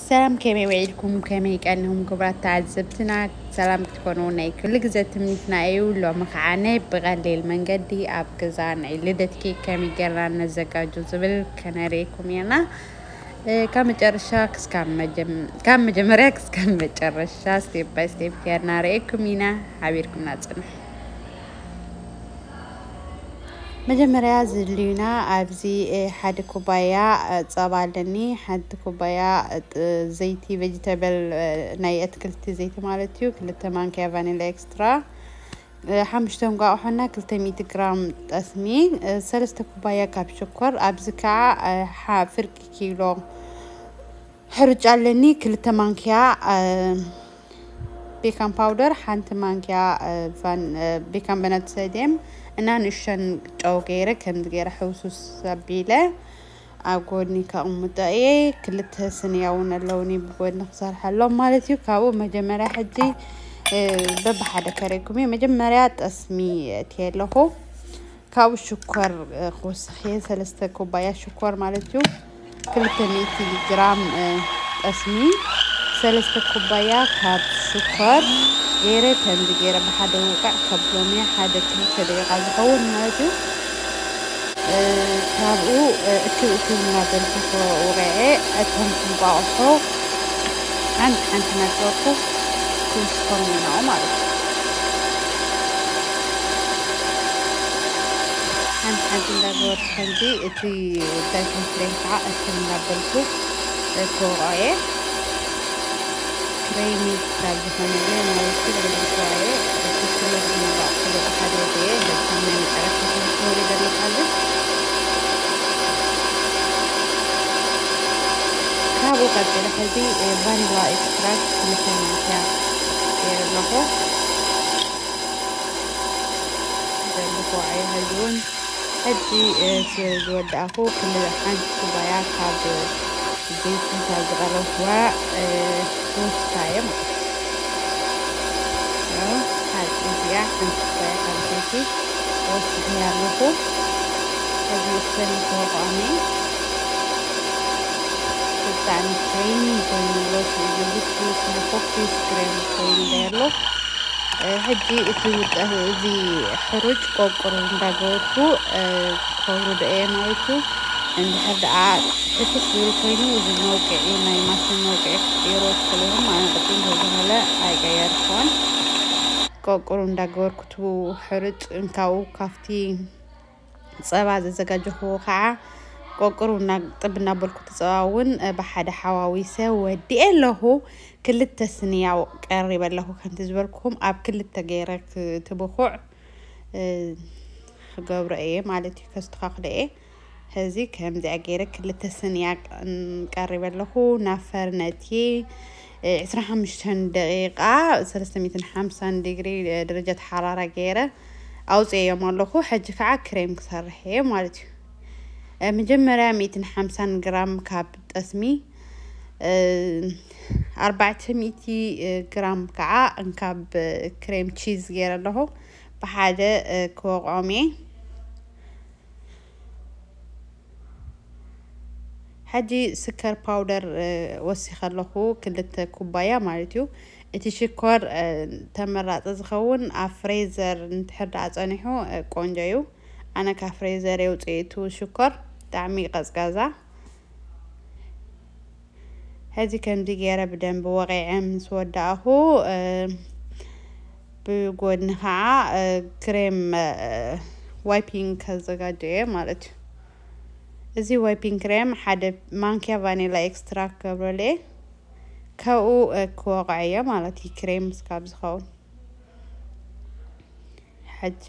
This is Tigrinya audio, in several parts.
ሰላም፣ ከመይ ውዒልኩም? ከመይ ቀኒኹም ክቡራት ተዓዘብትና? ሰላም ክትኮኑ ናይ ኩሉ ግዜ ትምኒትና እዩ። ሎሚ ከዓ ናይ ብቐሊል መንገዲ ኣብ ገዛ ናይ ልደት ኬክ ከመይ ጌርና ነዘጋጆ ዝብል ከነርእየኩም ኢና። እ፣ ካብ መጨረሻ ክስካብ መጀም-፣ ካብ መጀመርያ ክስካብ መጨረሻ ስቴፕ ባይ ስቴፕ ጌርና ርእየኩም ኢና። ሓቢርኩምና ጽንሑ። መጀመርያ ዝድልዩና ኣብዚ፣ እ፣ ሓደ ኩባያ፣ እ፣ ጸባ ኣለኒ፣ ሓንቲ ኩባያ፣ እ፣ ጥ-፣ ዘይቲ ቬጅተብል፣ እ፣ ናይ ኣትክልቲ ዘይቲ ማለት እዩ፣ ክልተ ማንኪያ ቫኒላ ኤክስትራ፣ እ፣ ሓሙሽተ እንቋቑሖና ክልተ ሚእቲ ግራም ጠስሚ፣ እ፣ ሰለስተ ኩባያ ካብ ሽኮር፣ ኣብዚ ከዓ፣ እ፣ ሓ-፣ ፍርቂ ኪሎ ሕርጭ ኣለኒ፣ ክልተ ማንኪያ፣ እ፣ ቤካን ፓውደር፣ ሓንቲ ማንኪያ፣ እ፣ ቫን-፣ እ፣ ቤካን በነት ሰድየም እና ንእሽተን ጨው ገይረ ከምዚ ገይረ ሕውሱስ ኣቢለ ኣብ ጎድኒ ከቕምጦ እየ። ክልተ ስንያ እውን ኣለውኒ ብጎድኒ ክሰርሐሎም ማለት እዩ። ካብኡ መጀመርያ ሕጂ፣ እ፣ በብሓደ ከረይኩም እየ። መጀመርያ ጠስሚ እትየ ኣለኹ። ካብኡ ሽኮር፣ እ፣ ክውስኽ እየ። ሰለስተ ኩባያ ሽኮር ማለት እዩ። ክልተ ሚእቲ ግራም፣ እ፣ ጠስሚ፣ ሰለስተ ኩባያ ካብ ሽኮር ገይረ ከምዚ ገይረ ብሓደ ውቕዕ ከብሎም እየ። ሓደ ክልተ ደቂቓ ዝኸውን ማለት እዩ። እ፣ ካብኡ፣ እ፣ እክብ እክብ እናበልኩ ከውቕዐ እቶም እንቋቑሖ ሓንቲ ሓንቲ እናገበርኩ ክውስኾም እየ ናብኡ ማለት እዩ። ሓንቲ ሓንቲ እንዳገበርኩ ከምዚ እቲ ውዳሴ ክሬም ከዓ እክብ እንዳበልኩ ክወቕዖ እየ። ክሬሚ ክሳብ ዝኾነ ግን ናውቲ ብልክዋየ እቲ ክሎ ዝመባቕ ክሎ ሓደ እየ። በጣም ናይ መጨረሻ ክሎ ክወሪ ዘለካ ግን ካብኡ ቀፂለ ሕዚ ቫኒላ ኤክስትራክት ክልተ ማንኪያ ገይረ ኣለኹ። ዘርግፎ ኣየ ሕጂ እውን ሕጂ፣ እ፣ ስ-፣ ዝወዳእኹ ክል-፣ ሓንቲ ኩባያ ካብ ዘይቲ ካብ ዝቐረብኩዋ፣ እ፣ ክውስኻ እየ ማለት እዩ። ያው ሓ-፣ እዚኣ ሓንቲ ኩባያ ካብ ዘይቲ ወሲኸያ ኣለኹ። ሕጂ እስተን ክወቕዖም እየ። ብጣዕሚ ክሬሚ ኮይኑ ወፂኡ ዘሎ ኩኪስ ክሬም ኮይኑ ኣሎ። እ፣ ሕጂ እቲ ውጠ-፣ እዚ ሕሩጭ ቆቁር እንዳገበርኩ፣ እ፣ ከውርዶ እየ ማለት እዩ። እንድሕር ደኣ ሕስስ ዝብል ኮይኑ እዚ መውቅዒ ናይ ማሽን መውቅዒ ክትቅይሮ ትኽእሉ ኢኹም። ኣነ ቅድም ተዝበለ ኣይቀየርኩን። ቆቁር እንዳገበርኩ እቲ ሕሩጭ እንካኡ ካብቲ ጸባ ዘዘጋጀኽዎ ከዓ ቆቅሩ እና-፣ ጥብ እናበልኩ እቲ ጸባ እውን፣ እ፣ ብሓደ ሓዋዊሰ ወዲኤ ኣለኹ። ክልተ ስንያው ቀሪበ ኣለኹ። ከምቲ ዝበልኩኹም ኣብ ክልተ ገይረ ክ-፣ እቲ ብኹዕ፣ እ፣ ክገብሮ እየ ማለት እዩ፣ ከስተኻኽሎ እየ። ሕዚ ከምዚኣ ገይረ ክልተ ስንያ ቅ-፣ ቀሪበ ኣለኹ። ናብ ፈርነቲ፣ እ፣ ዕስራን ሓሙሽተን ደቂቃ፣ ሰለስተ ሚእትን ሓምሳን ዲግሪ፣ እ፣ ደረጃት ሓራራ ገይረ ኣውፅኤዮም ኣለኹ። ሕጂ ከዓ ክሬም ክሰርሕ እየ ማለት እዩ። እ፣ መጀመርያ ሚእትን ሓምሳን ግራም ካብ ጠስሚ፣ እ፣ ኣርባዕተ ሚእቲ ግራም ከዓ እንካብ ክሬም ቺዝ ገይረ ኣለኹ። ብሓደ፣ እ፣ ክወቕዖም እየ። ሕጂ ስከር ፓውደር፣ እ፣ ወሲኸ ኣለኹ፣ ክልተ ኩባያ ማለት እዩ። እቲ ሽኮር፣ እ፣ ተመራጺ ዝኸውን ኣብ ፍሬዘር እንድሕር ደኣ ጸኒሑ፣ እ፣ ቆንጆ እዩ። ኣነ ካብ ፍሬዘር የውፅኤ እቲ ሽኮር፣ ብጣዕሚ ቀዝቃዛ። ሕዚ ከምዚ ገይረ ብደንቢ ወቂዐ ምስ ወዳእኹ፣ እ፣ ብጎድኒ ከዓ፣ እ፣ ክሬም፣ እ፣ ዋይፒንግ ከዘጋጀየ ማለት እዩ። እዚ ዋይፒንግ ክሬም ሓደ ማንኪያ ቫኒላ ኤክስትራክት ክገብረሉ እየ። ካብኡ፣ እ፣ ክወቕዐዮ ማለት እዩ፣ ክሬም ስካብ ዝኸውን። ሕጂ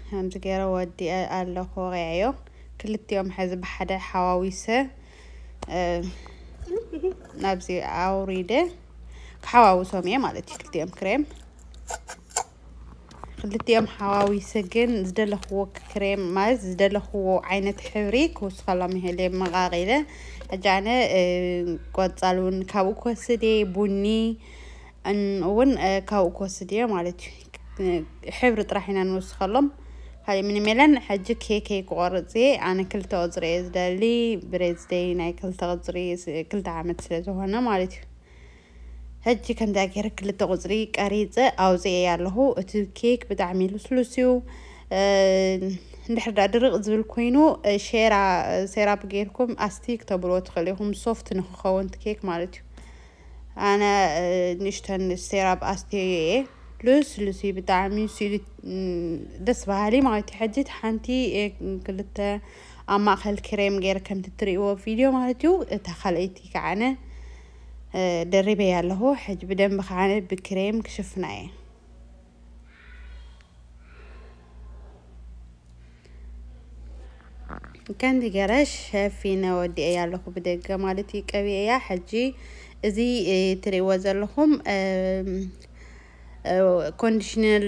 ከምዚ ገይረ ወዲአ ኣለኹ፣ ወቂዐዮ። ክልቲኦም ሕዚ ብሓደ ሓዋዊሰ፣ እ፣ ናብዚ ኣውሪደ ክሓዋውሶም እየ ማለት እዩ። ክልቲኦም ክሬም፣ ክልቲኦም ሓዋዊሰ ግን ዝደለኽዎ ክሬም ማለት ዝደለኽዎ ዓይነት ሕብሪ ክውስኸሎም ይኽእል እየ መቓቒለ። ሕጂ ኣነ፣ እ፣ ቆጻል እውን ካብኡ ክወስድ እየ፣ ቡኒ እን-፣ እውን፣ እ፣ ካብኡ ክወስድ እየ ማለት እዩ። ሕብሪ ጥራሕ ኢና ንወስኸሎም። ካልእ ምንም የለን። ሕጂ ኬከይ ክቆርጽ እየ። ኣነ ክልተ ቁጽሪ እየ ዝደሊ፣ ብሬዝደይ ናይ ክልተ ቁጽሪ፣ ክልተ ዓመት ስለ ዝኾነ ማለት እዩ። ሕጂ ከምዛ ገይረ ክልተ ቁጽሪ ቀሪጸ ኣውጽኤ ኣለኹ። እቲ ኬክ ብጣዕሚ ልስሉስ እዩ። እንድሕር ዳ ድርቕ ዝብል ኮይኑ፣ ሸራ፣ ሴራፕ ጌርኩም ኣስቲክ ተብሎ ትኽእል ኢኹም፣ ሶፍት ንክኸውን እቲ ኬክ ማለት እዩ። ኣነ ንእሽተን ሴራፕ ኣስትዮ እየ። ልስሉስ እዩ ብጣዕሚ፣ ስኢሉ ደስ በሃሊ ማለት እዩ። ሕጂ ሓንቲ ክልተ ኣብ ማእኸል ክሬም ገይረ ከምቲ ትርእይዎ ቪድዮ ማለት እዩ። እታ ካልኣይቲ ከዓነ ደሪበያ ኣለኹ። ሕጂ ብደንቢ ከዓነ ብክሬም ክሽፍና እየ። ከምዚ ገይረ ሸፊነ ወዲኤያ ኣለኹ ብደገ ማለት እዩ። ቀቢኤያ። ሕጂ እዚ ትርእይዎ ዘለኹም ኮንዲሽነር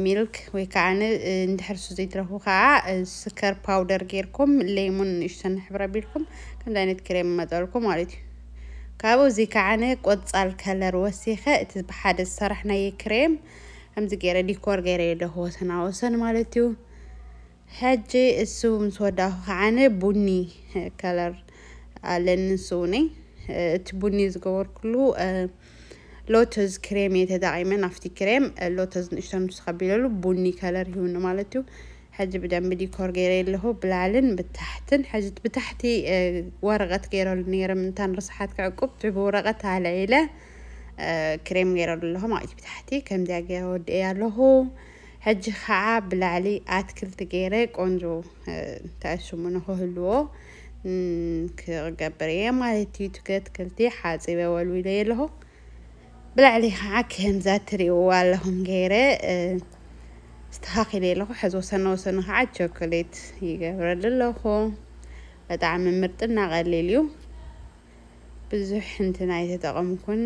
ሚልክ ወይ ከዓ እንድሕር እሱ ዘይትረኽቡ ከዓ ስከር ፓውደር ጌርኩም ሌሙን ንእሽተን ሕብረ ቢልኩም ከምዚ ዓይነት ክሬም መጠልኩም ማለት እዩ። ካብኡ እዚ ከዓነ ቆጻል ከለር ወሲኸ እቲ ብሓደ ዝሰራሕናዮ ክሬም ከምዚ ገይረ ዲኮር ገይረ ኣለኹ ወሰና ወሰን ማለት እዩ። ሕጂ እሱ ምስ ወዳኹ ከዓነ ቡኒ ከለር ኣለኒ ንሱ እውነይ። እቲ ቡኒ ዝገበርኩሉ ሎተዝ ክሬም እየ ተጠቒመ። ናፍቲ ክሬም ሎተዝ ንእሽተን ምስ ከቢለሉ ቡኒ ከለር ይህውኒ ማለት እዩ። ሕጂ ብደንቢ ዲኮር ገይረ ኣለኹ ብላዕልን ብታሕትን። ሕጂ ብታሕቲ ወረቐት ገይረሉ ነይረ ምንታን ርስሓት ክዕቁብ ብወረቐት ኣልዒለ ክሬም ገይረሉ ኣለኹ ማለት እዩ። ብታሕቲ ከምዚያ ገይረ ወዲኤ ኣለኹ። ሕጂ ከዓ ብላዕሊ ኣትክልቲ ገይረ ቆንጆ ተኣሽሙ ንክህልዎ ክገብር እየ ማለት እዩ። ትከትክልቲ ሓፂበ ወልዊለ ኣለኹ። ብላዕሊ ከዓ ከምዛ ትርእይዎ ኣለኹም ገይረ ስተኻኺለ ኣለኹ። ሕዚ ወሰነ ወሰኑ ከዓ ቸኮሌት ይገብረሉ ኣለኹ። ብጣዕሚ ምርጥና ቀሊል እዩ። ብዙሕ እንትን ኣይተጠቐምኩን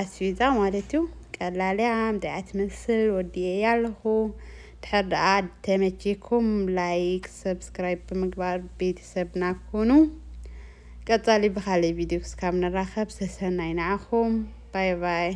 ኣስቤዛ ማለት እዩ። ቀላል እያ፣ ምንታይ እያ ትመስል ወዲኤያ ኣለኹ። ድሕር ደኣ ተመቺኩም ላይክ፣ ሰብስክራይብ ብምግባር ቤተሰብና ኩኑ። ቀጻሊ ብኻልእ ቪድዮ ክስካብ ንራኸብ፣ ሰሰናይ ንዓኹም። ባይ ባይ።